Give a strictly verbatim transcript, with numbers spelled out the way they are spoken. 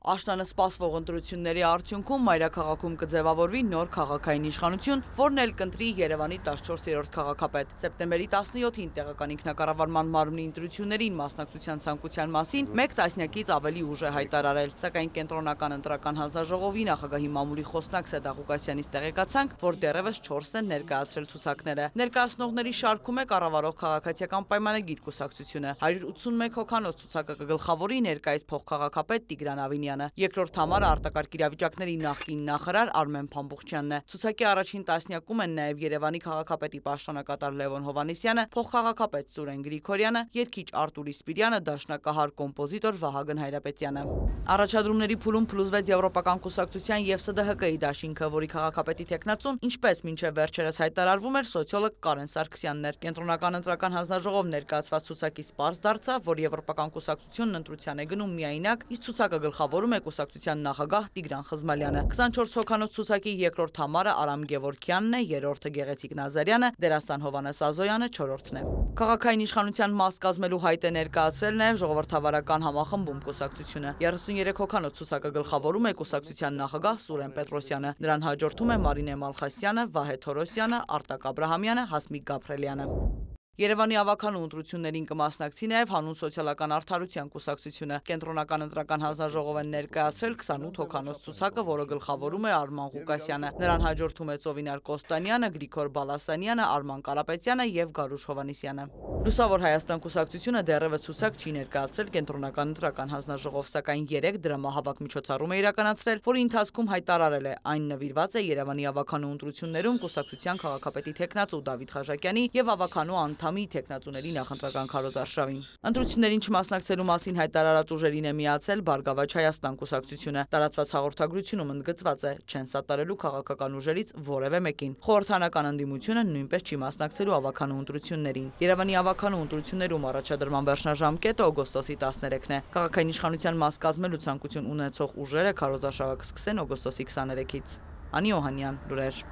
Աշնանը սպասվող ընտրությունների արդյունքում մայրաքաղաքում կձևավորվի նոր քաղաքային իշխանություն, որն էլ կընտրի Երևանի տասնչորսերորդ քաղաքապետ։ Սեպտեմբերի տասնյոթին տեղական ինքնակառավարման մարմնի ընտրություններին մասնակցության ցանկության մասին մեկ տասնյակից ավելի ուժ է հայտարարել, սակայն կենտրոնական ընտրական հանձնաժողովի նախագահի մամուլի խոսնակ Սեդա Ղուկասյանից տեղեկացանք, որ դեռևս չորս են ներկայացրել ցուցակները։ Ներկայացնողների շարքում է կառավարող քաղաքացիական պայմանագիր կուսակցությունը։ հարյուր ութսունմեկ հոգանոց ցուցակը կգլխավորի ներկայիս փոխքաղաքապետ Տիգրան Ավինյանը։ Երկրորդ համարը արտակարգ իրավիճակների նախկին նախարար Արմեն Փամբուխչյանն է։ Ցուցակի առաջին տասնյակում են նաև Երևանի քաղաքապետի պաշտոնակատար Լևոն Հովհաննիսյանը, փոխքաղաքապետ Սուրեն Գրիգորյանը, երգիչ Արտուր Իսպիրյանը, դաշնակահար կոմպոզիտոր Վահագն Հայրապետյանը։ Առաջադրումների փուլում փլուզվեց Եվրոպական կուսակցության և Սը Դե Հը Կը-ի դաշինքը, որի քաղաքապետի թեկնածուն, ինչպես մինչև վերջերս հայտարարվում էր, սոցիոլոգ Կարեն Սարգսյանն էր։ Կենտրոնական ընտրական հանձնաժողով ներկայացված ցուցակից պարզ դարձավ, որ Եվրոպական կուսակցությունն ընտրության է գնում միայնակ, իսկ ցուցակը գլխավորում է կուսակցության նախագահ Տիգրան Խզմալյանը։ քսանչորս հոգանոց ցուցակի երկրորդ համարը Արամ Գևորգյանն է, երրորդը Գեղեցիկ Նազարյանը, դերասան Հովհաննես Ազոյանը չորրորդն է։ Քաղաքային իշխանության մաս կազմելու հայտ է ներկայացրել նաև ժողովրդավարական համախմբում կուսակցությունը։ երեսունյերեք հոգանոց ցուցակը գլխավորում է կուսակցության նախագահ Սուրեն Պետրոսյանը։ Նրան հաջորդում է Մարինե Մալխասյանը, Վահե Թորոսյանը, Արտակ Աբրահամյանը, Հասմիկ Գաբրելյանը։ Երևանի ավականու ընտրություններին կմասնակցի նաև Հանուն սոցիալական արդարության կուսակցությունը։ Կենտրոնական ընտրական հանձնաժողով են ներկայացրել քսանութ հոգանոց ցուցակը, որը գլխավորում է Արման Ղուկասյանը։ Նրան հաջորդում է Ծովինար Կոստանյանը, Գրիգոր Բալասանյանը, Արման Կարապետյանը և Գարուշ Հովհաննիսյանը։ Լուսավոր Հայաստան կուսակցությունը դեռևս ցուցակ չի ներկայացրել Կենտրոնական ընտրական հանձնաժողով, սակայն երեք դրամահավաք միջոցառում է իրականացրել, որի ընթացքում հայտարարել է, այն նվիրված է Երևանի ավականու ընտրություններում կուսակցության քաղաքապետի թեկնածու Դավիթ Խաչատյանի և ավականու անդամի թեկնածուների նախընտրական քարոզարշավին։ Ընտրություններին չմասնակցելու մասին հայտարարած ուժերին է միացել Բարգավաճ Հայաստան կուսակցությունը։ Տարածված հաղորդագրությունում ընդգծված է, չեն սատարելու քաղաքական ուժերից որևէ մեկին։ Խորհրդարանական ընդդիմությունը նույնպես չի մասնակցելու ավականու ընտրություններին։ Երևանի ավականու ընտրություններում առաջադրման վերջնաժամկետը օգոստոսի տասներեքն է։ Քաղաքային իշխանության մաս կազմելու ցանկություն ունեցող ուժերը քարոզարշավը կսկսեն օգոստոսի քսաներեքից։ Անի Օհանյան, լուրեր։